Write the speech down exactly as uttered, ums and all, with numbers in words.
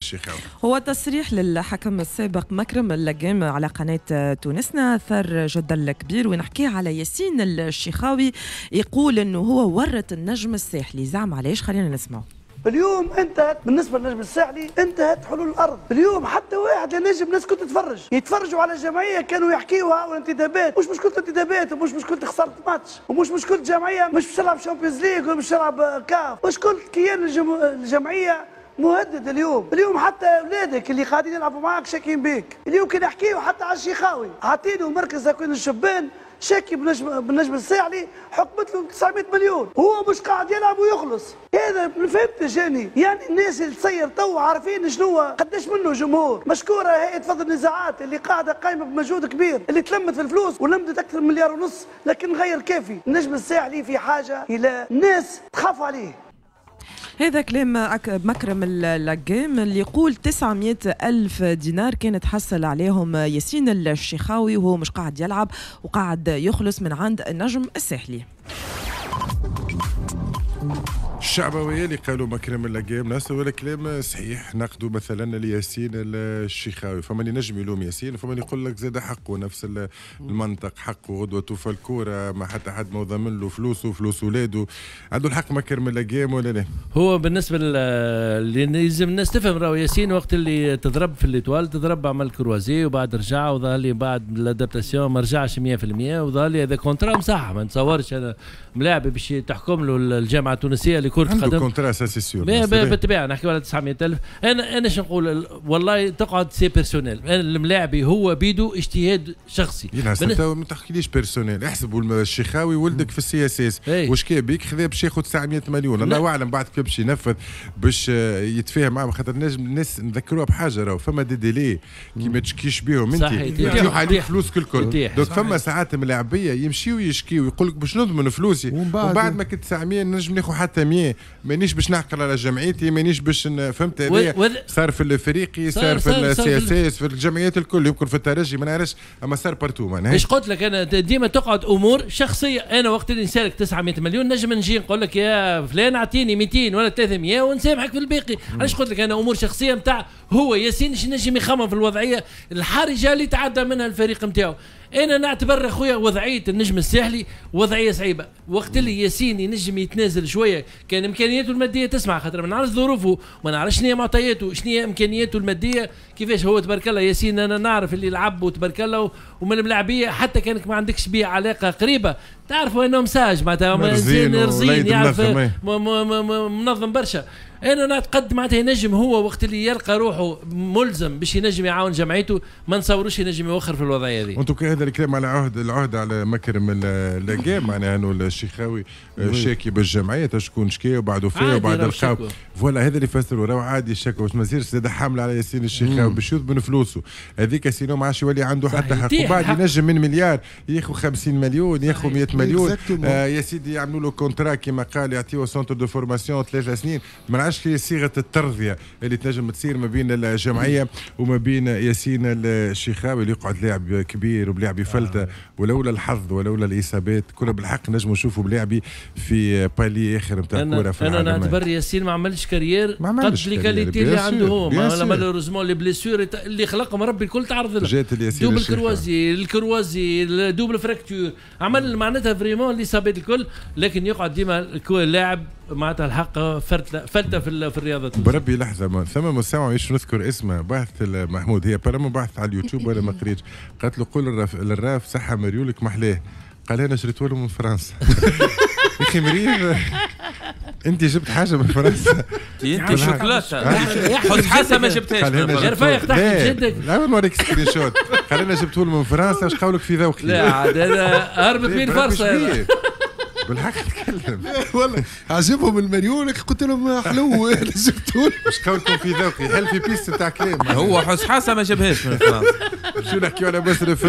الشيخاوي. هو تصريح للحكم السابق مكرم اللقام على قناة تونسنا أثار جدل كبير، ونحكي على ياسين الشيخاوي يقول أنه هو ورط النجم الساحلي. زعما علاش؟ خلينا نسمعه. اليوم انتهت بالنسبة للنجم الساحلي، انتهت حلول الارض. اليوم حتى واحد لا نجم، الناس كنت تتفرج، يتفرجوا على الجمعية كانوا يحكيوها والانتدابات، مش مشكلة انتدابات ومش مشكلة خسارة ماتش ومش مشكلة جمعية مش باش تلعب Champions League ولا باش تلعب كاف، مشكلة كيان الجم... الجمعية مهدد اليوم. اليوم حتى اولادك اللي قاعدين يلعبوا معاك شاكين بيك. اليوم كي نحكيو حتى على الشيخاوي، عطينه مركز تكوين الشبان، شاكي بالنجم بالنجم الساحلي، حكمت له تسعمية مليون، هو مش قاعد يلعب ويخلص. هذا ما فهمتش يعني، يعني الناس اللي تصير تو عارفين شنو قداش منه جمهور. مشكورة هيئة فض النزاعات اللي قاعدة قايمة بمجهود كبير، اللي تلمت في الفلوس ولمدت اكثر من مليار ونص، لكن غير كافي. النجم الساحلي في حاجة الى ناس تخاف عليه. هذا كلام مكرم اللقام اللي يقول تسعمية ألف دينار كانت حصل عليهم ياسين الشيخاوي وهو مش قاعد يلعب وقاعد يخلص من عند النجم الساحلي. الشعبوية اللي قالوا مكرم اللقام ناس ولا كلام صحيح. ناخذوا مثلا لياسين الشيخاوي، فما اللي نجم يلوم ياسين وفما اللي يقول لك زاد حقه، نفس المنطق، حقه غدوه توفى الكورة ما حتى حد ما ضامن له فلوسه وفلوس ولاده. عنده الحق مكرم اللقام ولا لا؟ هو بالنسبة اللي لازم الناس تفهم، راهو ياسين وقت اللي تضرب في l'Étoile تضرب عمل croisé وبعد رجع، وظهر لي بعد l'adaptation ما رجعش مية في المية، وظهر لي هذا contrat مصح. ما نتصورش انا ملاعب باش تحكم له الجامعة التونسية لكرة القدم contrat ça c'est sûr. بالطبيعة نحكيو على تسعمية ألف. انا انا شو نقول، والله تقعد c'est personnel. انا الملاعبي هو بيدو اجتهاد شخصي. ما تحكيليش personnel، احسبوا الشيخاوي ولدك في ال CSS واش كان بيك خذا باش ياخذ تسعمية مليون، الله اعلم بعد كيف باش ينفذ باش يتفاهم معاه، خاطر نجم الناس نذكروها بحاجة، راهو فما des délais كي ما تشكيش بيهم انت يطيح عليك فلوسك الكل. donc فما ساعات ملاعبيه يمشيو يشكيو يقول لك باش نضمن فلوسي، ومن بعد ما كنت تسعمية نجم ناخذ حتى مية، مانيش باش نعقل على جمعيتي، مانيش باش فهمت. هذا صار في الافريقي، صار في ال CSS، في الجمعيات الكل، يمكن في الترجي ما نعرفش، اما صار partout. معناها ايش قلت لك انا ديما تقعد امور شخصية. انا وقت اللي نسالك تسعمية مليون نجم نجي نقول لك يا فلان اعطيني ميتين ولا ثلاثمية ونسامحك في الباقي. علاش قلت لك انا امور شخصية نتاع هو ياسين شي نجم يخمم في الوضعية الحرجة اللي تعدى منها الفريق نتاعو. انا نعتبر اخويا وضعية النجم الساحلي وضعية صعيبة، وقت اللي ياسين ينجم يتنازل شوية كان امكانياته المادية تسمع، خاطر ما نعرفش ظروفه، ما نعرفش شنو هي معطياته، شنو هي امكانياته المادية كيفاش هو. تبارك الله ياسين انا نعرف اللي لعب وتبارك الله ومن الملاعبيه حتى كانك ما عندكش بيه علاقة قريبه تعرفوا انه sage معناتها رزين رزين يعرف منظم برشا. انا نعتقد معناتها ينجم هو وقت اللي يلقى روحه ملزم باش ينجم يعاون جمعيته، ما نصوروش ينجم يوخر في الوضعية هذه. وانتم هذا الكلام على عهد العهد على مكرم اللقام، معناها انه الشيخاوي شاكي بالجمعيه شكون شكي وبعده فيه وبعد لقاو voilà، هذا اللي فسروا راهو عادي الشكوى باش ما يصيرش زاد حمله على ياسين الشيخاوي باش يضمن فلوسه هذيك، sinon ما عادش يولي عنده حتى حق، وبعد ينجم من مليار ياخذ خمسين مليون ياخذ مية مليون. آه يا سيدي يعملوا له contrat كما قال، يعطيوه centre de formation ثلاث سنين، ما نعرفش صيغة الترضيه اللي تنجم تصير ما بين الجمعية وما بين ياسين الشيخاوي اللي يقعد لاعب كبير وبلاعب فلته، آه. ولولا الحظ ولولا الاصابات كنا بالحق نجموا نشوفوا بلاعبي في palier اخر نتاع الكورة في العالم. انا نعتبر ياسين ما عملش carrière قد les qualités اللي عنده هو، malheureusement les blessures اللي خلقهم ربي الكل تعرض له، جات double croisé، ال croisé، double fracture، عمل معناتها vraiment الاصابات الكل، لكن يقعد ديما لاعب معناتها الحق فلته فلته في في الرياضة. بربي لحظة، ثم مستمع مش نذكر اسمه، بعث محمود هي برا بعث على اليوتيوب ولا ما قريتش، قالت له قول للراف, للراف صحة مريولك محلاه، قال انا شريته له من فرنسا. يا اخي مريض انت جبت حاجة من فرنسا، انت شوكولاتة حط حاسه ما جبتهاش يا رفيق تحكي بجدك. لا نوريك screenshot، قال انا جبته له من فرنسا، اش قولك في ذوقي؟ لا عاد هذا هربت بين فرصة بالحق تكلم. والله عجبهم المليون قلت لهم حلو انا جبته. مش قولكم في ذوقي، هل في piste نتاع كلام هو حس حاسه ما جابهاش من فرنسا. شو نحكيو على مصرف